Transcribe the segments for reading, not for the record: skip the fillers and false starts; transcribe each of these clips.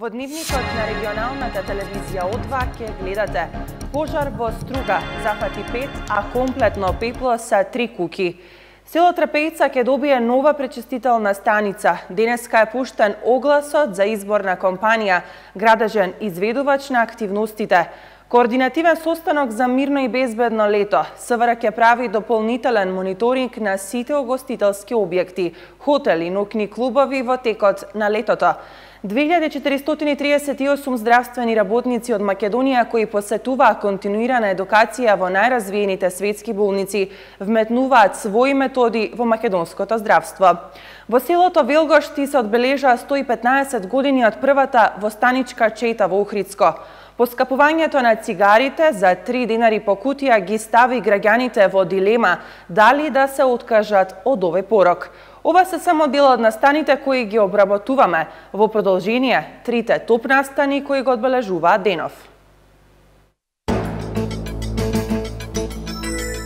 Во дневникот на регионалната телевизија О2 ќе гледате: пожар во Струга зафати 5, а комплетно пепло са 3 куќи. Село Трпејца ќе добие нова пречистителна станица. Денеска е пуштен огласот за избор на компанија, градежен изведувач на активностите. Координативен состанок за мирно и безбедно лето. СВР ќе прави дополнителен мониторинг на сите угостителски објекти, хотели, ноќни клубови во текот на летото. 2438 здравствени работници од Македонија кои посетуваа континуирана едукација во најразвиените светски болници вметнуваат своји методи во македонското здравство. Во селото Велгошти се одбележа 115 години од првата востаничка чета во Охридско. Поскапувањето на цигарите за 3 денари по кутија ги стави граѓаните во дилема дали да се откажат од овој порок. Ова се само дел од настаните кои ги обработуваме. Во продолжение, 3 топ настани кои го одбележуваат денов.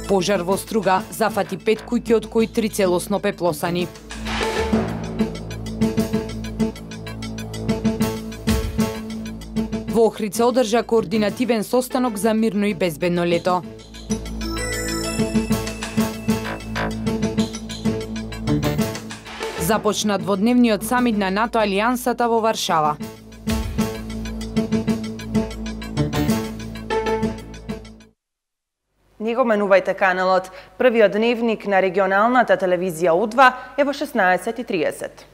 Пожар во Струга зафати 5 куќи, од кои 3 целосно пеплосани. Во Охрид се одржа координативен состанок за мирно и безбедно лето. Започна дводневниот самит на НАТО Алијансата во Варшава. Не го менувајте каналот. Првиот дневник на регионалната телевизија О2 е во 16:30.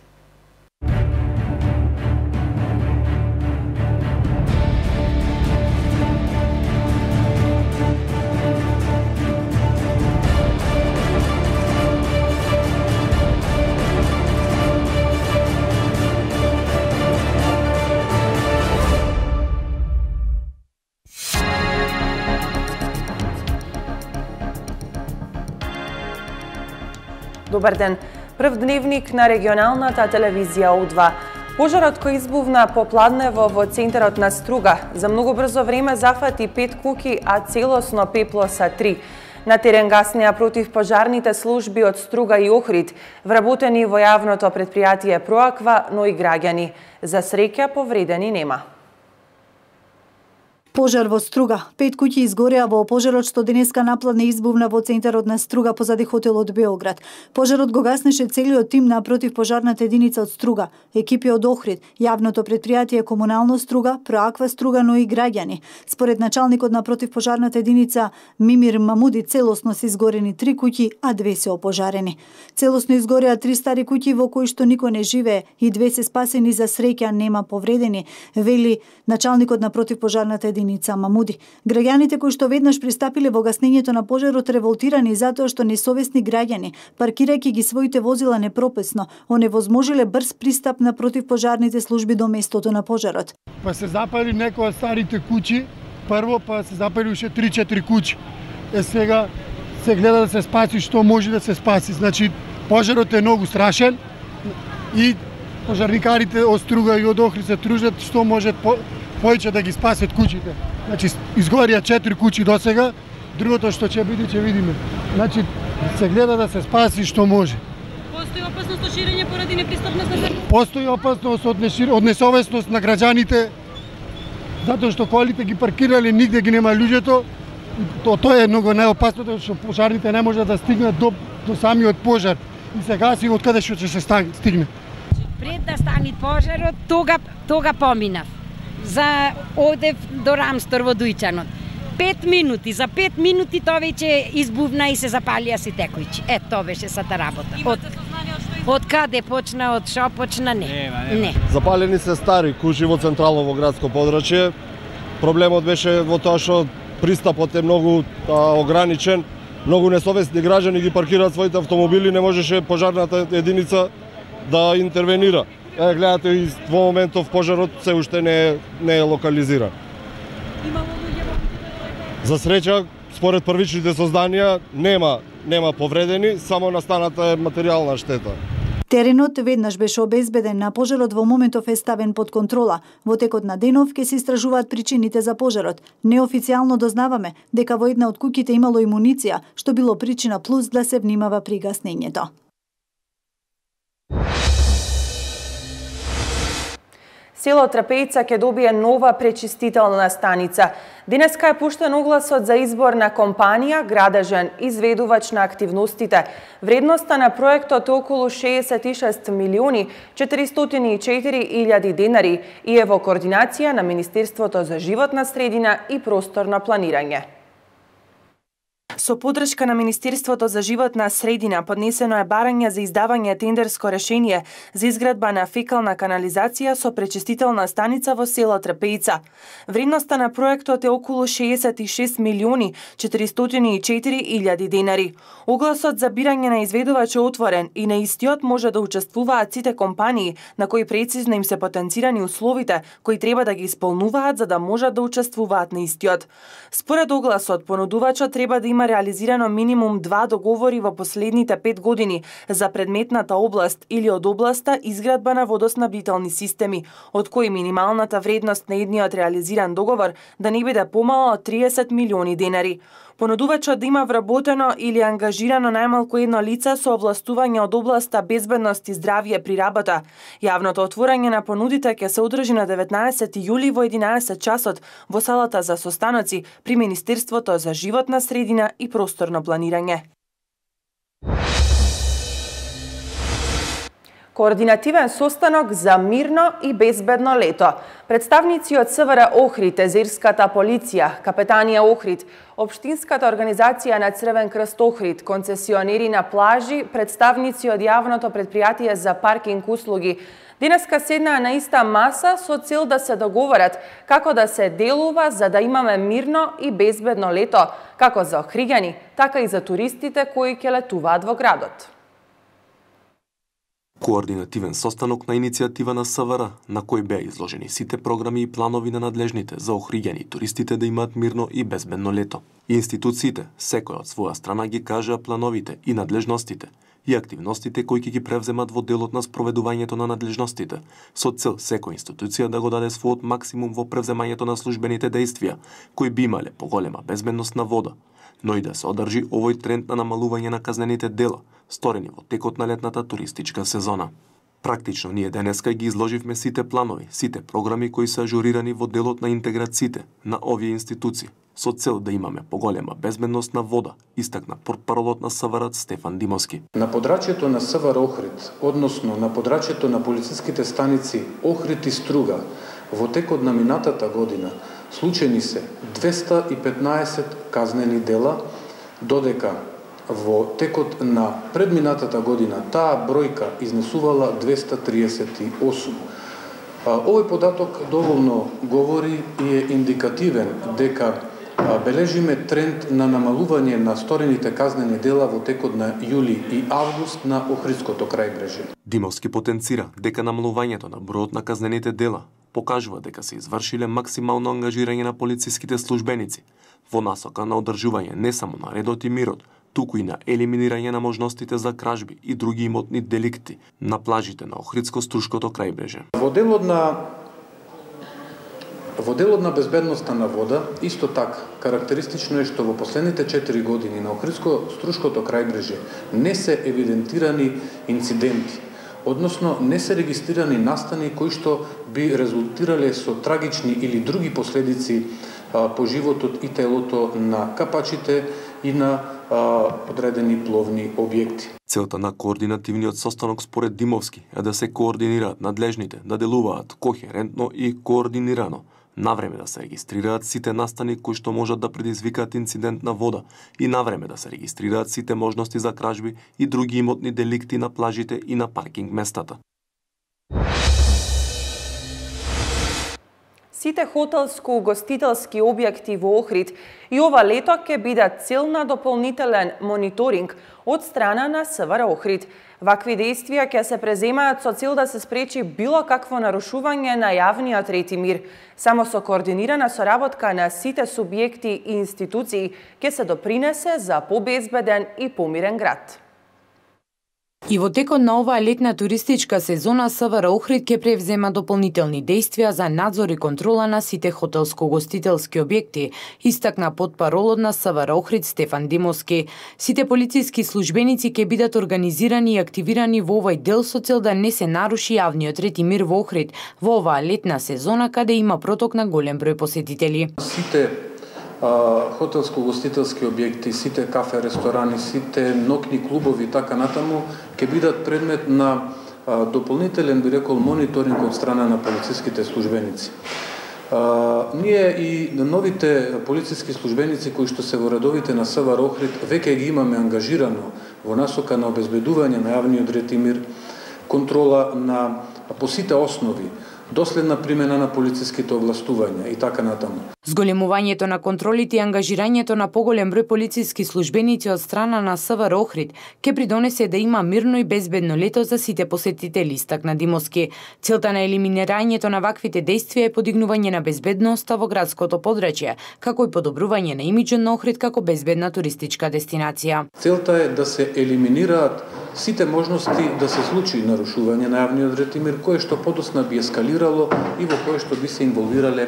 Добар ден. Прв дневник на регионалната телевизија О2. Пожарот кој избувна попладнево во центарот на Струга за многу брзо време зафати 5 куќи, а целосно пепло са 3. На терен гаснеа противпожарните служби од Струга и Охрид, вработени во јавното предпријатие Проаква, но и граѓани. За среќа повредени нема. Пожар во Струга. 5 куќи изгореа во пожарот што денеска напладне избувна во центарот на Струга позади хотелот Београд. Пожарот го гаснеше целиот тим на противпожарната единица од Струга, екипи од Охрид, јавното предпријатие Комунално Струга, Проаква Струга, но и граѓани. Според началникот на противпожарната единица Мимир Мамуди, целосно се изгорени 3 куќи, а 2 се опожарени. Целосно изгореа 3 стари куќи во кои што никој не живее и 2 се спасени, за среќа нема повредени, вели началникот на противпожарната единица Мамуди. Граѓаните кои што веднаш пристапиле во гаснењето на пожарот револтирани затоа што несовесни граѓани, паркирајќи ги своите возила непрописно, оневозможиле брз пристап на противпожарните служби до местото на пожарот. Па се запали некои од старите куќи, прво па се запали уште 3-4 куќи. Сега се гледа да се спаси што може да се спаси. Значи пожарот е многу страшен и пожарникарите од Струга и од Охрид се тружат што може повеќе да ги спасат куќите. Значи изгорија 4 куќи досега, другото што ќе биде ќе видиме. Значи се гледа да се спаси што може. Постои опасност од ширење поради непристапност на земја? Постои опасност од несовесност на граѓаните, затоа што колите ги паркирале, нигде ги нема луѓето. Тоа е многу најопасното, што пожарните не можат да стигнат до самиот пожар и се гаси од каде што ќе се стигне. Пред да стане пожарот, тога поминав. За одев до Рамстор во Дујчанот. 5 минути, за 5 минути тоа веќе избувна и се запалија сите куќи. Тоа беше сата работа. Од каде почна, од шо почна, не. Запалени се стари куќи во централно во градско подрачје. Проблемот беше во тоа што пристапот е многу ограничен. Многу несовесни граѓани ги паркираат своите автомобили, не можеше пожарната единица да интервенира. Гледате, и во моментов пожарот се уште не е локализиран. За среќа, според првичните созданија, нема повредени, само настаната е материјална штета. Теренот веднаш беше обезбеден, на пожарот во моментов е ставен под контрола. Во текот на денов ќе се истражуваат причините за пожарот. Неофицијално дознаваме дека во една од куќите имало и муниција, што било причина плюс да се внимава при гаснењето. Село Трпејца ќе добие нова пречистителна станица. Денеска е пуштен огласот за избор на компанија, градежен изведувач на активностите. Вредноста на проектот е околу 66 милиони 404 илјади денари и е во координација на Министерството за животна средина и просторно планирање. Со поддршка на Министерството за животна средина поднесено е барање за издавање тендерско решение за изградба на фекална канализација со пречистителна станица во село Трпејца. Вредноста на проектот е околу 66 милиони 404 илјади денари. Огласот за бирање на изведувач е отворен и на истиот може да учествуваат сите компании на кои прецизно им се потенцирани условите кои треба да ги исполнуваат за да можат да учествуваат на истиот. Според огласот, понудувачот треба да има реализирано минимум 2 договори во последните 5 години за предметната област или од областа изградба на водоснабдителни системи, од кои минималната вредност на едниот реализиран договор да не биде помала од 30 милиони денари. Понудувачот да има вработено или ангажирано најмалку едно лице со овластување од областа безбедност и здравје при работа. Јавното отворање на понудите ќе се одржи на 19 јули во 11 часот во салата за состаноци при Министерството за животна средина и просторно планирање. Координативен состанок за мирно и безбедно лето. Представници од СВР Охрид, Езерската полиција, Капетанија Охрид, Општинската организација на Црвен крст Охрид, концесионери на плажи, представници од јавното претпријатие за паркинг услуги, денеска седнаа на иста маса со цел да се договорат како да се делува за да имаме мирно и безбедно лето, како за охриѓани, така и за туристите кои ќе летуваат во градот. Координативен состанок на иницијатива на СВР, на кој беа изложени сите програми и планови на надлежните за охриѓани и туристите да имаат мирно и безбедно лето. Институциите, секој од своја страна ги кажа плановите и надлежностите и активностите кои ќе ги превземат во делот на спроведувањето на надлежностите, со цел секоја институција да го даде својот максимум во превземањето на службените дејствија, кои би имале поголема безбедност на вода, но и да се одржи овој тренд на намалување на казнените дела, сторени во текот на летната туристичка сезона. Практично ние денеска ги изложивме сите планови, сите програми кои се ажурирани во делот на интеграциите на овие институции, со цел да имаме поголема безбедност на вода, истакна портпаролот на СВР Стефан Димовски. На подрачјето на СВР Охрид, односно на подрачјето на полициските станици Охрид и Струга, во текот на минатата година случени се 215 казнени дела, додека во текот на предминатата година таа бројка изнесувала 238. Овој податок доволно говори и е индикативен дека бележиме тренд на намалување на сторените казнени дела во текот на јули и август на Охридското крајбрежје. Димовски потенцира дека намалувањето на бројот на казнените дела покажува дека се извршиле максимално ангажирање на полициските службеници во насока на одржување не само на редот и мирот, туку и на елиминирање на можностите за кражби и други имотни деликти на плажите на Охридско-Струшкото крајбрежје. Во делот на безбедноста на вода, исто така, карактеристично е што во последните 4 години на Охридско-Струшкото крајбрежје не се евидентирани инциденти, односно не се регистрирани настани кои што би резултирале со трагични или други последици по животот и телото на капачите и на одредени пловни објекти. Целта на координативниот состанок според Димовски е да се координираат надлежните, да делуваат кохерентно и координирано, навреме да се регистрираат сите настани кои што можат да предизвикаат инцидент на вода и навреме да се регистрираат сите можности за кражби и други имотни деликти на плажите и на паркинг местата. Сите хотелско-угостителски објекти во Охрид и ова лето ќе бидат цел на дополнителен мониторинг од страна на СВР Охрид. Вакви дејствија ќе се преземаат со цел да се спречи било какво нарушување на јавниот ред и мир. Само со координирана соработка на сите субјекти и институции ќе се допринесе за побезбеден и помирен град. И во текот на оваа летна туристичка сезона СВР Охрид ќе превзема дополнителни действија за надзор и контрола на сите хотелско-гостителски објекти, истакна потпаролот на СВР Охрид Стефан Димовски. Сите полициски службеници ќе бидат организирани и активирани во овој дел со цел да не се наруши јавниот ред и мир во Охрид во оваа летна сезона каде има проток на голем број посетители. Сите хотелско-гостителски објекти, сите кафе, ресторани, сите ноќни клубови и така натаму ќе бидат предмет на дополнителен, би рекол, мониторинг од страна на полициските службеници. Ние и новите полициски службеници кои што се во редовите на СВР Охрид веќе ги имаме ангажирано во насока на обезбедување на јавниот ред и мир, контрола на по сите основи, доследна примена на полициските овластувања и така натаму. Зголемувањето на контролите и ангажирањето на поголем број полициски службеници од страна на СВР Охрид ќе придонесе да има мирно и безбедно лето за сите посетители, истакна Димовски. Целта на елиминирањето на ваквите действија е подигнување на безбедноста во градското подрачје, како и подобрување на имиџот на Охрид како безбедна туристичка дестинација. Целта е да се елиминираат сите можности да се случи нарушување на јавниот ред и мир, кое што подосна би ескалирало и во кое што би се инволвирале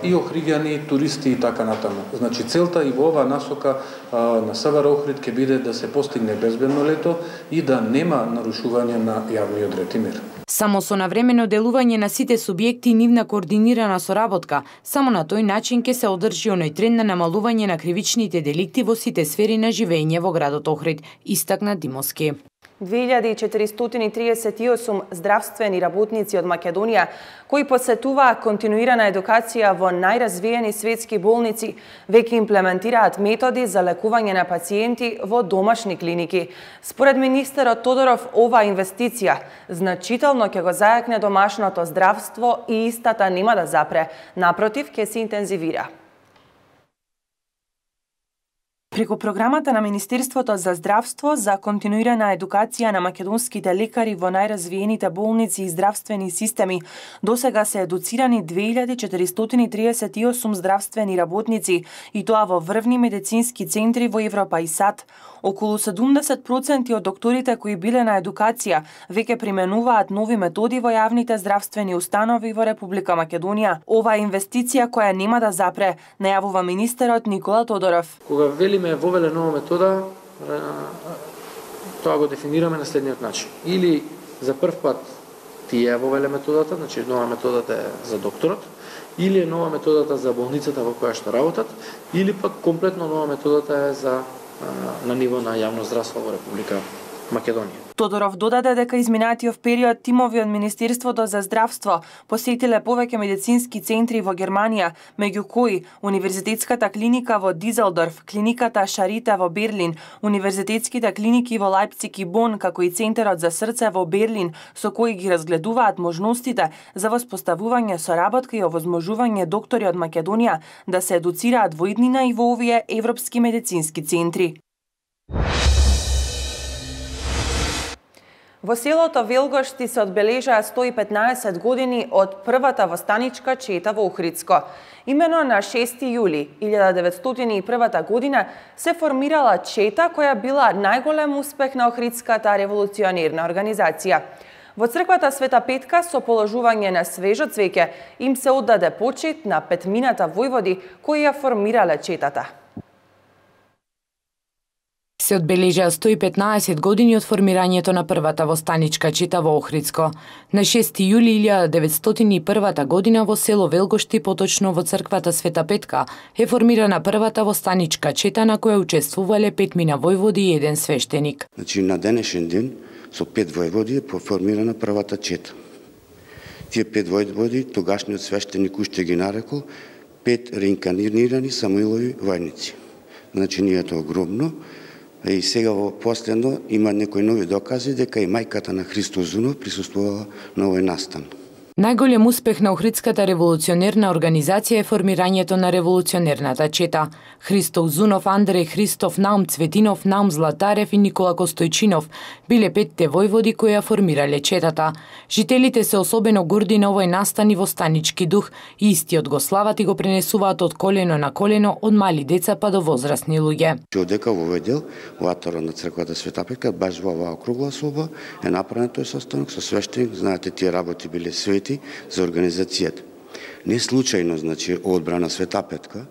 и охриѓани, туристи и така натаму. Значи целта и во оваа насока на СВР Охрид ќе биде да се постигне безбедно лето и да нема нарушување на јавниот ред и мир. Само со навремено делување на сите субјекти и нивна координирана соработка, само на тој начин ќе се одржи оној тренд на намалување на кривичните деликти во сите сфери на живење во градот Охрид, истакна Димовски. 2438 здравствени работници од Македонија кои посетуваа континуирана едукација во најразвиени светски болници веќе имплементираат методи за лекување на пациенти во домашни клиники. Според министерот Тодоров, оваа инвестиција значително ќе го зајакне домашното здравство и истата нема да запре, напротив ќе се интензивира. Преку програмата на Министерството за здравство за континуирана едукација на македонските лекари во најразвиените болници и здравствени системи, досега се едуцирани 2438 здравствени работници, и тоа во врвни медицински центри во Европа и САД. Околу 70% од докторите кои биле на едукација веќе применуваат нови методи во јавните здравствени установи во Република Македонија. Ова е инвестиција која нема да запре, најавува министерот Никола Тодоров. Кога велиме вовеле нова метода, тоа го дефинираме на следниот начин. Или за прв пат тие вовеле методата, значи нова методата е за докторот, или е нова методата за болницата во која што работат, или пак комплетно нова методата е за на ниво на јавно здравство во Република Македонија. Тодоров додаде дека изминатиот период тимови од Министерството за здравство посетиле повеќе медицински центри во Германија, меѓу кои Универзитетската клиника во Дизелдорф, клиниката Шарите во Берлин, универзитетските клиники во Лајпциг и Бон, како и Центарот за срце во Берлин, со кои ги разгледуваат можностите за воспоставување соработка и овозможување доктори од Македонија да се едуцираат во иднина и во овие европски медицински центри. Во селото Велгошти се одбележаа 115 години од првата востаничка чета во Охридско. Имено на 6 јули 1901 година се формирала чета која била најголем успех на Охридската револуционерна организација. Во црквата Света Петка со положување на свежо цвеќе им се оддаде почит на петмината војводи кои ја формирале четата. Се одбележаа 115 години од формирањето на првата востаничка чета во Охридско. На 6 јули 1901 година во село Велгошти, поточно во црквата Света Петка, е формирана првата востаничка чета на која учествувале петмина војводи и еден свештеник. Значи на денешен ден со 5 војводи е формирана првата чета. Тие 5 војводи тогашниот свештеник уште ги нарекол 5 реинкарнирани Самуилови војници. Значи ние тоа огромно. И сега во последно има некои нови докази дека и мајката на Христо Зунов присуствувала на овој настан. Најголем успех на Охридската револуционерна организација е формирањето на револуционерната чета. Христо Узунов, Андреј Христов, Наум Цветинов, Наум Златарев и Никола Костојчинов биле 5 војводи кои ја формирале четата. Жителите се особено горди на овој настан и востанички дух и истиот го слават и го пренесуваат од колено на колено од мали деца па до возрастни луѓе. Одека во овој дел, во атарот на црквата Света Петка, баш во оваа округла соба е направен тој состанок со свештеник, знаете тие работи биле свети за организацијата. Не случајно, значи, одбрана Света Петка,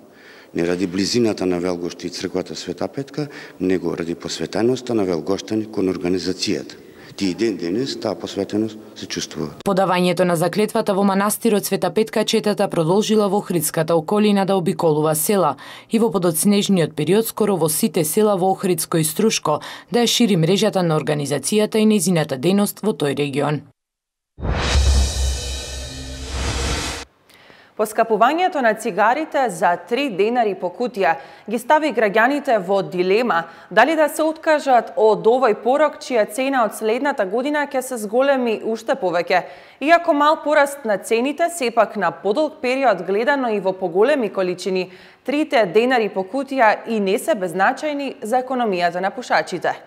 не ради близината на Велгоште и црквата Света Петка, него ради посветеноста на Велгоштани кон организацијата. Тие ден денес таа посветеност се чувствува. Подавањето на заклетвата во манастирот Света Петка четата продолжила во Охридската околина да обиколува села и во подоцнежниот период скоро во сите села во Охридско и Струшко да ја шири мрежата на организацијата и нејзината дејност во тој регион. Поскапувањето на цигарите за 3 денари по кутија ги стави граѓаните во дилема дали да се откажат од овој порок чија цена од следната година ќе се зголеми уште повеќе. Иако мал пораст на цените, сепак на подолг период гледано и во поголеми количини, 3 денари по кутија и не се беззначајни за економијата на пушачите.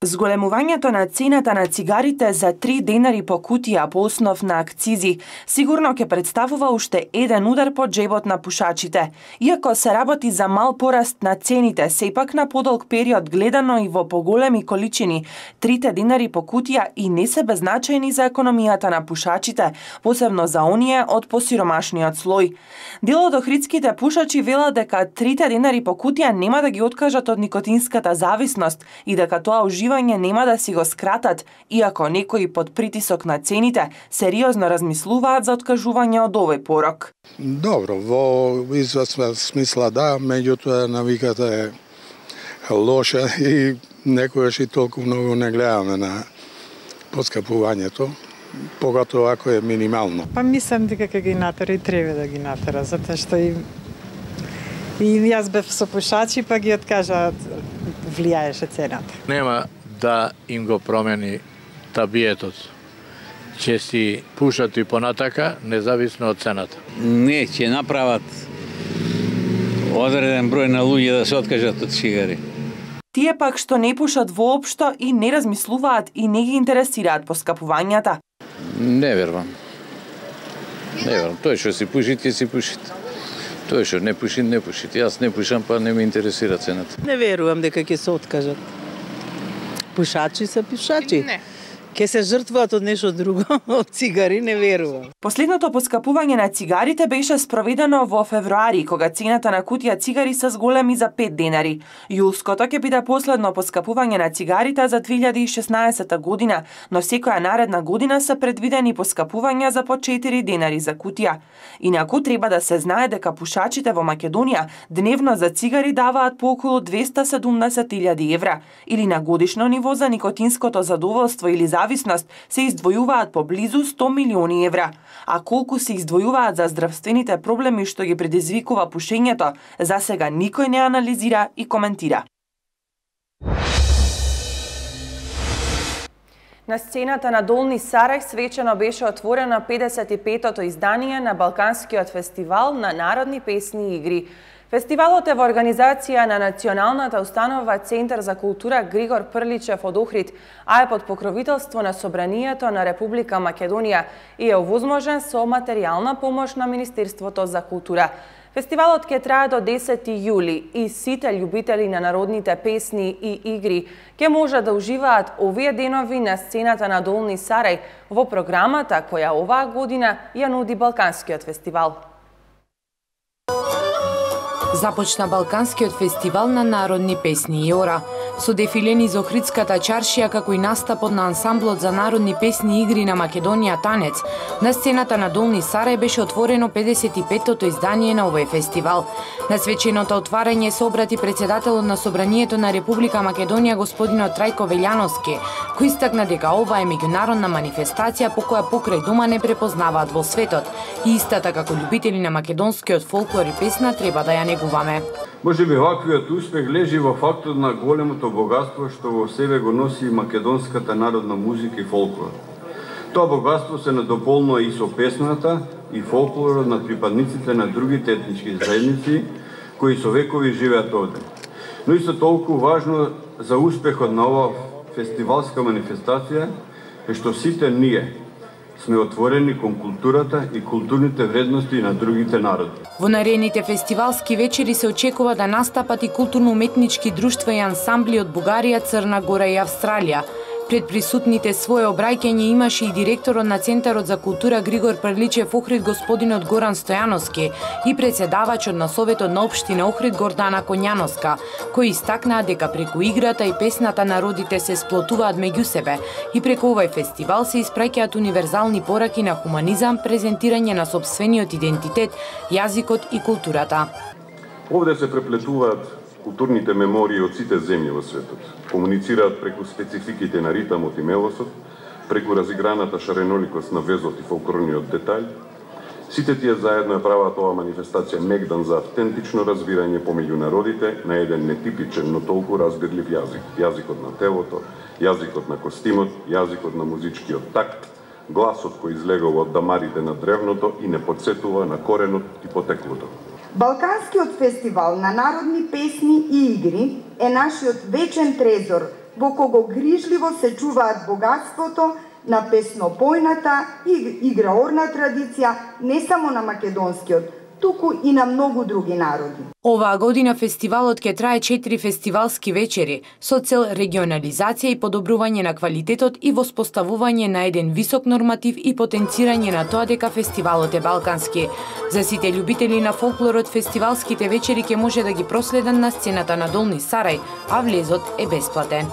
Зголемувањето на цената на цигарите за 3 денари по кутија по основ на акцизи сигурно ќе представува уште еден удар по џебот на пушачите. Иако се работи за мал пораст на цените, сепак на подолг период гледано и во поголеми количини, 3 денари по кутија и не се беззначајни за економијата на пушачите, посебно за оние од посиромашниот слој. Дел од охридските пушачи велат дека 3 денари по кутија нема да ги откажат од никотинската зависност и дека тоа уживање нема да си го скратат, иако некои под притисок на цените сериозно размислуваат за откажување од овој порок. Добро, во известна смисла да, меѓутоа навиката е лоша и некојаш и толку многу не гледаме на поскапувањето, поготово ако е минимално. Па мислам дека ќе ги натера и треба да ги натера, затоа што и јас бев со пушачи, па ги откажаат, влијаеше цената. Нема да им го промени табиетот. Ќе си пушат и понатака, независно од цената. Не, ќе направат одреден број на луѓе да се откажат од цигари. Тие пак што не пушат воопшто и не размислуваат и не ги интересираат поскапувањата. Не верувам. Не верувам. Тој што си пуши, ќе си пуши. Тој што не пуши, не пуши. Јас не пушам, па не ме интересира цената. Не верувам дека ќе се откажат. Пушачи се пушачи. Не. Ке се жртвуваат од нешто друго, од цигари, не верувам. Последното поскапување на цигарите беше спроведено во февруари, кога цената на кутија цигари се зголеми за 5 денари. Јулското ќе биде последно поскапување на цигарите за 2016 година, но секоја наредна година се предвидени поскапувања за по 4 денари за кутија. Инаку треба да се знае дека пушачите во Македонија дневно за цигари даваат по околу 270.000 евра, или на годишно ниво за никотинското задоволство или зависност се издвојуваат по близу 100 милиони евра. А колку се издвојуваат за здравствените проблеми што ги предизвикува пушењето, за сега никој не анализира и коментира. На сцената на Долни Сарај свечено беше отворено 55-тото издание на Балканскиот фестивал на народни песни и игри. Фестивалот е во организација на Националната установа Центар за култура Григор Прличев од Охрид, а е под покровителство на Собранието на Република Македонија и е овозможен со материјална помош на Министерството за култура. Фестивалот ќе трае до 10 јули и сите љубители на народните песни и игри ќе можат да уживаат овие денови на сцената на Долни Сарај во програмата која оваа година ја нуди Балканскиот фестивал. Започна Балканскиот фестивал на народни песни и ора. Со дефиле низ Охридската чаршија, како и настапот на ансамблот за народни песни и игри на Македонија Танец, на сцената на Долни Сарај беше отворено 55-тото издание на овој фестивал. На свеченото отварање се обрати председателот на Собранието на Република Македонија господинот Трајко Велјановски, кој истакна дека ова е меѓународна манифестација по која покрај дома не препознаваат во светот и истата како љубители на македонскиот фолклор и песна треба да ја негуваме. Може би ваквиот успех лежи во фактот на големото богатство што во себе го носи македонската народна музика и фолклор. Тоа богатство се надополнува и со песната и фолклорот на припадниците на другите етнички заедници кои со векови живеат овде. Но исто толку важно за успехот на ова фестивалска манифестација е што сите ние сме отворени кон културата и културните вредности на другите народи. Во наредните фестивалски вечери се очекува да настапат и културно-уметнички друштва и ансамбли од Бугарија, Црна Гора и Австралија. Пред присутните свое обраќање имаше и директорот на Центарот за култура Григор Прличев Охрид господинот Горан Стојановски и председавачот на Советот на општина Охрид Гордана Коњановска, кои истакнаа дека преку играта и песната народите се сплотуваат меѓу себе и преку овој фестивал се испраќаат универзални пораки на хуманизам, презентирање на сопствениот идентитет, јазикот и културата. Овде се преплетуваат културните мемории од сите земји во светот. Комуницираат преку спецификите на ритамот и мелосот, преку разиграната шареноликост на везот и фолклорниот детај. Сите тие заедно ја прават оваа манифестација мегдан за автентично разбирање помеѓу народите на еден нетипичен, но толку разбирлив јазик. Јазикот на телото, јазикот на костимот, јазикот на музичкиот такт, гласот кој излегува од дамарите на древното и не потсетува на коренот и потеклото. Балканскиот фестивал на народни песни и игри е нашиот вечен трезор, во кого грижливо се чуваат богатството на песнопојната и играорна традиција не само на македонскиот, туку и на многу други народи. Оваа година фестивалот ќе трае 4 фестивалски вечери со цел регионализација и подобрување на квалитетот и воспоставување на еден висок норматив и потенцирање на тоа дека фестивалот е балкански. За сите љубители на фолклорот, фестивалските вечери ќе може да ги проследат на сцената на Долни Сарај, а влезот е бесплатен.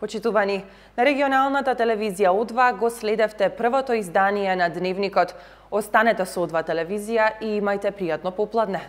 Почитувани, на регионалната телевизија О2 го следевте првото издание на Дневникот. Останете со О2 телевизија и имајте пријатно попладне.